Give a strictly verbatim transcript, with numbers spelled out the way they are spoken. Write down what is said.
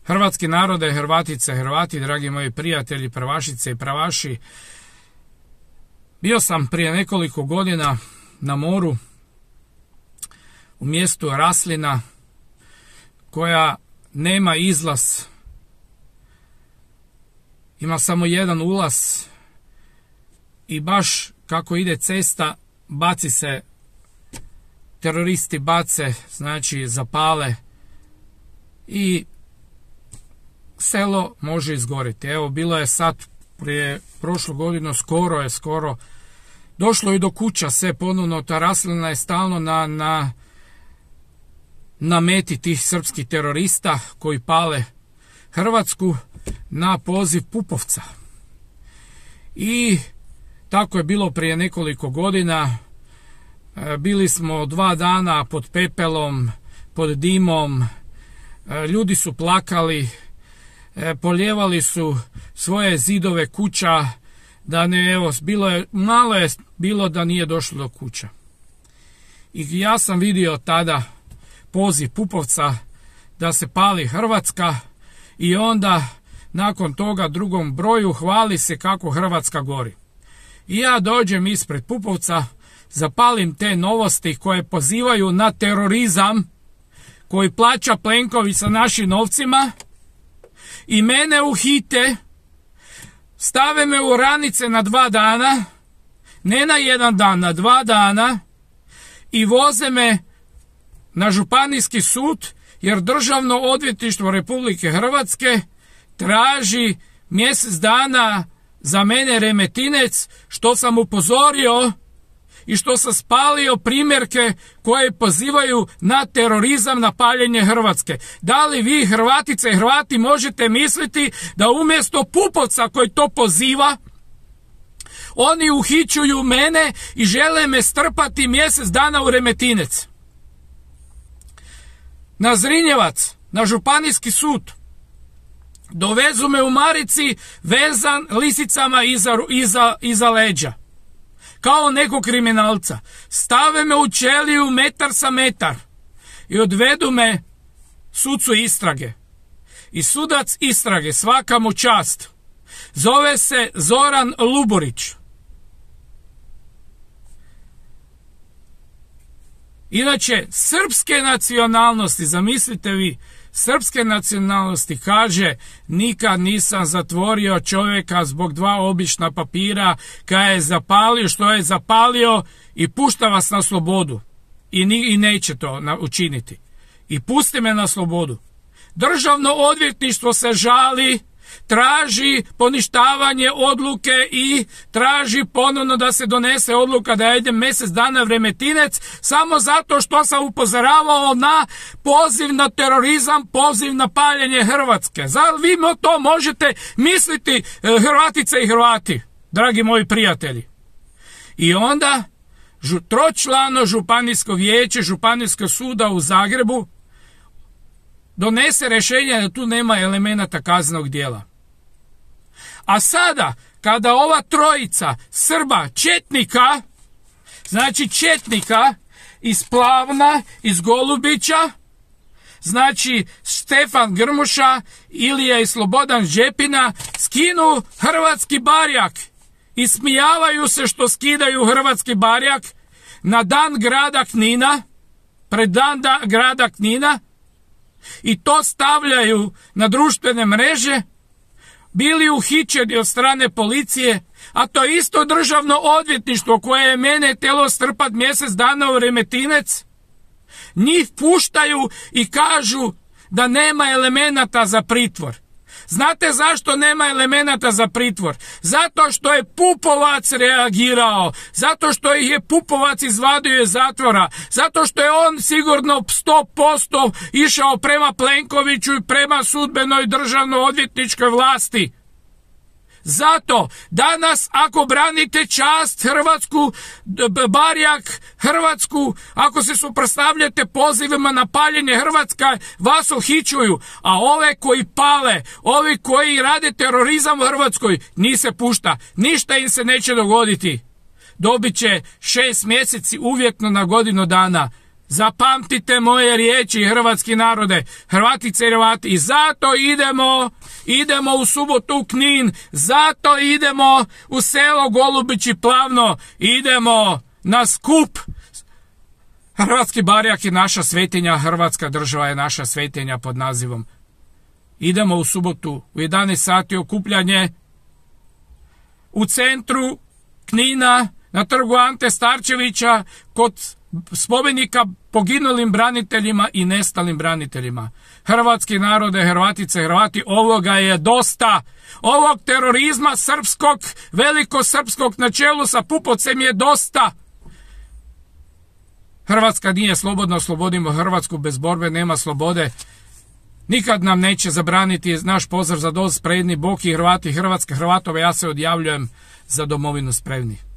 Hrvatski narode, Hrvatice, Hrvati, dragi moji prijatelji, pravašice i pravaši. Bio sam prije nekoliko godina na moru u mjestu Raslina koja nema izlaz. Ima samo jedan ulaz i baš kako ide cesta baci se, teroristi bace, znači zapale i selo može izgoriti. Evo, bilo je sad prije prošlu godinu, skoro je, skoro došlo i do kuća, sve ponovno, ta Raslina je stalno na, na, na meti tih srpskih terorista koji pale Hrvatsku na poziv Pupovca. I tako je bilo prije nekoliko godina. Bili smo dva dana pod pepelom, pod dimom, ljudi su plakali, polijevali su svoje zidove kuća, da ne, evo, bilo je, malo je bilo da nije došlo do kuća. I ja sam vidio tada poziv Pupovca da se pali Hrvatska i onda nakon toga drugom broju hvali se kako Hrvatska gori. I ja dođem ispred Pupovca, zapalim te novosti koje pozivaju na terorizam koji plaća Plenković sa našim novcima i mene uhite, stave me u ranice na dva dana, ne na jedan dan, na dva dana i voze me na županijski sud jer Državno odvjetništvo Republike Hrvatske traži mjesec dana za mene Remetinec, što sam upozorio i što sam spalio primjerke koje pozivaju na terorizam, na paljenje Hrvatske. Da li vi, Hrvatice i Hrvati, možete misliti da umjesto Pupovca koji to poziva, oni uhićuju mene i žele me strpati mjesec dana u Remetinec? Na Zrinjevac, na županijski sud. Dovezu me u marici vezan lisicama iza, iza, iza leđa. Kao nekog kriminalca. Stave me u ćeliju metar sa metar. I odvedu me sucu istrage. I sudac istrage, svaka mu čast, zove se Zoran Luborić. Inače, srpske nacionalnosti, zamislite vi, srpske nacionalnosti, kaže, nikad nisam zatvorio čovjeka zbog dva obična papira, kada je zapalio što je zapalio i pušta vas na slobodu. I, ni, i neće to na, učiniti. I pusti me na slobodu. Državno odvjetništvo se žali, traži poništavanje odluke i traži ponovno da se donese odluka da ja idem mjesec dana u Remetinec samo zato što sam upozoravao na poziv na terorizam, poziv na paljenje Hrvatske. Zar vi to možete misliti, Hrvatice i Hrvati, dragi moji prijatelji? I onda tročlano županijsko vijeće Županijskog suda u Zagrebu donese rješenje da tu nema elemenata kaznenog djela. A sada, kada ova trojica Srba, četnika, znači četnika iz Plavna, iz Golubića, znači Stefan Grmuša, Ilija i Slobodan Žepina, skinu hrvatski barjak i smijavaju se što skidaju hrvatski barjak na dan grada Knina, pred dan da, grada Knina, i to stavljaju na društvene mreže, bili uhićeni od strane policije, a to isto Državno odvjetništvo koje je mene htjelo strpat mjesec dana u Remetinec, njih puštaju i kažu da nema elemenata za pritvor. Znate zašto nema elemenata za pritvor? Zato što je Pupovac reagirao, zato što ih je Pupovac izvadio iz zatvora, zato što je on sigurno sto posto išao prema Plenkoviću i prema sudbenoj državno odvjetničkoj vlasti. Zato danas ako branite čast Hrvatsku, barjak Hrvatsku, ako se suprotstavljate pozivima na paljenje Hrvatska, vas uhićuju, a ove koji pale, ovi koji rade terorizam u Hrvatskoj, ni se pušta, ništa im se neće dogoditi. Dobit će šest mjeseci uvjetno na godinu dana Zapamtite moje riječi, hrvatski narode, Hrvatice i Hrvati, i zato idemo, idemo u subotu u Knin, zato idemo u selo Golubići Plavno, idemo na skup. Hrvatski barjak je naša svetinja, Hrvatska država je naša svetinja pod nazivom. Idemo u subotu u jedanaest sati okupljanje u centru Knina, na trgu Ante Starčevića, kod spomenika poginulim braniteljima i nestalim braniteljima. Hrvatski narode, Hrvatice, Hrvati, ovoga je dosta. Ovog terorizma srpskog, velikosrpskog na čelu sa Pupovcem je dosta. Hrvatska nije slobodna, oslobodimo Hrvatsku, bez borbe nema slobode. Nikad nam neće zabraniti naš pozdrav za doz spremni, Bog i Hrvati, Hrvatska, Hrvatove, ja se odjavljujem, za domovinu spremni.